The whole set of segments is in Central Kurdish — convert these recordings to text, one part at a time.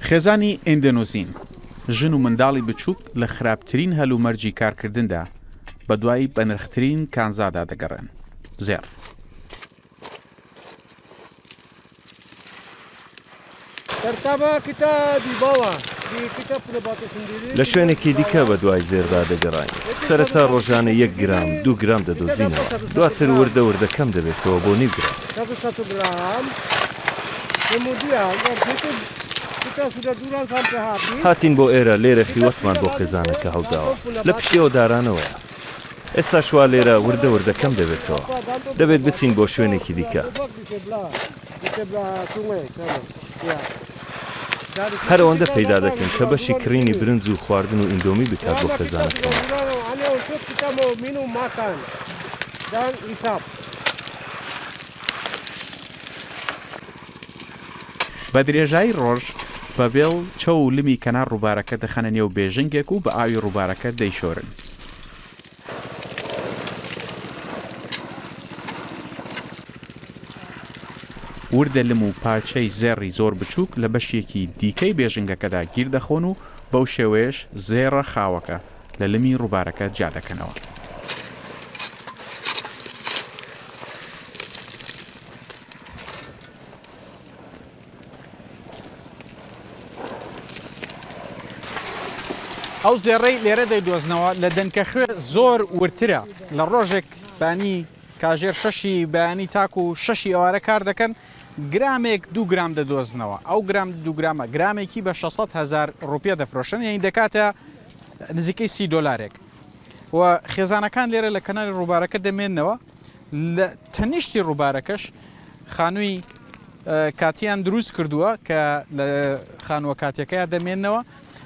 خێزانی ئیندۆنیزین، ژن و منداڵی بچووک لە خراپترین هەلومەرجی کارکردندا بەدوای بەنرخترین کانزادا دەگەڕێن، زێڕ. لە شوێنێکی دیکە بەدوای زێردا دەگەڕاین. سەرەتا ڕۆژانە یەک گرام، دوو گرام دەدۆزینەوە. دواتر وردە وردە کەم دەبێتەوە بۆ نیو گرام. هاتین بۆ ئێرە، لێرە خیوەتمان بۆ خێزانەکە هەڵداوە. لە پشتی ئەو دارانەوەیە. ئێستاش وا لێرە وردە وردە کەم دەبێتەوە. دەبێت بچین بۆ شوێنێکی دیکە. هەر ئەوەندە پەیدا دەکەین کە بەشی کڕینی برنج و خواردن و ئیندۆمی بکات بۆ خێزانەکەمان. بە درێژایی ڕۆژ بە بێڵ چەو و لمی کەنار ڕووبارەکە دەخەنە نێو بێژنگێک و بە ئاوی ڕووبارەکە دەیشۆرن. وردە لم و پارچەی زێڕی زۆر بچووک لە بەشێکی دیکەی بێژنگەکەدا گیر دەخۆن و بەو شێوەیەش زێڕە خاوەکە لە لمی ڕووبارەکە جیا دەکەنەوە. ئەو زێڕەی لێرە دەیدۆزنەوە لە دەنکە خوێ زۆر وردترە، لە ڕۆژێک بانی کاژێر شەشی بەیانی تاکو شەشی ئێوارە کار دەکەن، گرامێک دوو گرام دەدۆزنەوە، ئەو گرام دوو گرامە گرامێکی بە 600 هەزار ڕوپیە دەفرۆشن، یانی دەکاتە نزیکەی 30 دۆلارێک و خێزانەکان لێرە لە کەناری ڕووبارەکە دەمێننەوە، لە تەنیشتی ڕووبارەکەش خانووی کاتیان دروست کردووە کە لە خانووە کاتیەکەیا دەمێننەوە،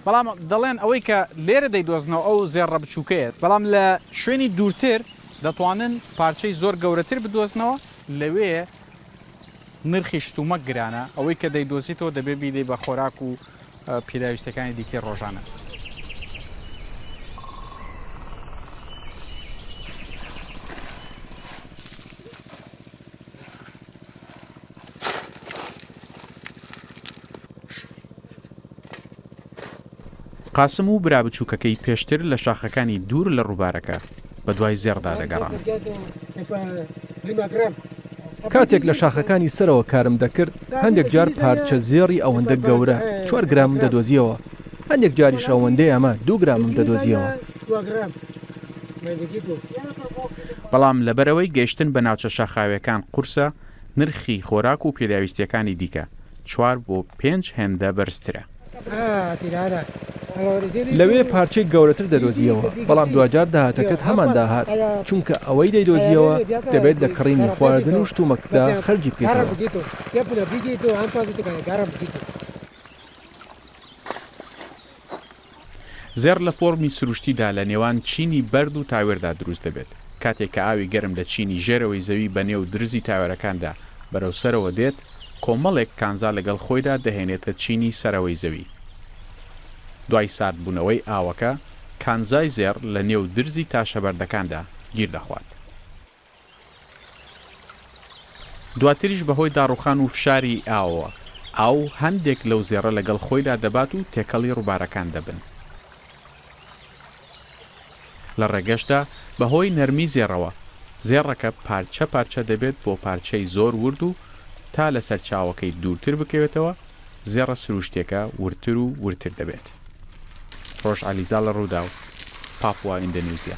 بەڵام دەڵێن ئەوەی کە لێرە دەیدۆزنەوە ئەو زێڕە بچووکەیە، بەڵام لە شوێنی دوورتر دەتوانن پارچەی زۆر گەورەتر بدۆزنەوە، لەوێ نرخی شتومەک گرانە، ئەوەی کە دەیدۆزیتەوە دەبێت بیدەی بە خۆراک و پێداویستیەکانی دیکەی ڕۆژانە. قاسم و برا بچووکەکەی پێشتر لە شاخەکانی دوور لە ڕووبارەکە بەدوای زێڕدا دەگەڕان. کاتێک لە شاخەکانی سەرەوە کارم دەکرد، هەندێک جار پارچە زێڕی ئەوەندە گەورە، چوار گرامم دەدۆزییەوە، هەندێک جاریش ئەوەندەی ئەمە، دوو گرامم دەدۆزییەوە. بەڵام لەبەرئەوەی گەیشتن بە ناوچە شاخاوییەکان قورسە، نرخی خۆراک و پێداویستییەکانی دیکە چوار بۆ پێنج هێندە بەرزترە. لەوێ پارچەی گەورەتر دەدۆزییەوە، بەڵام دواجار داهاتەکەت هەمان داهات، چونکە ئەوەی دەیدۆزییەوە دەبێت لە کڕینی خواردن و شتومەکدا خەرجی بکەیتەوە. زێڕ لە فۆرمی سروشتیدا لە نێوان چینی بەرد و تاوێردا دروست دەبێت. کاتێک کە ئاوی گەرم لە چینی ژێرەوەی زەوی بە نێو درزی تاوێرەکاندا بەرەو سەرەوە دێت، کۆمەڵێک کانزا لەگەڵ خۆیدا دەهێنێتە چینی سەرەوەی زەوی. دوای ساردبوونەوەی ئاوەکە، کانزای زێڕ لە نێو درزی تاشەبەردەکاندا گیر دەخوات. دواتریش بەهۆی داڕوخان و فشاری ئاوەوە، ئاو هەندێک لەو زێڕە لەگەڵ خۆیدا دەبات و تێکەڵی ڕووبارەکان دەبن. لە ڕێگەشدا بەهۆی نەرمی زێڕەوە، زێڕەکە پارچە پارچە دەبێت بۆ پارچەی زۆر ورد و تا لە سەرچاوەکەی دوورتر بکەوێتەوە، زێڕە سروشتیەکە وردتر و وردتر دەبێت. ڕۆژ عەلیزا لە ڕووداو، پاپوا ئیندەنیوزیا.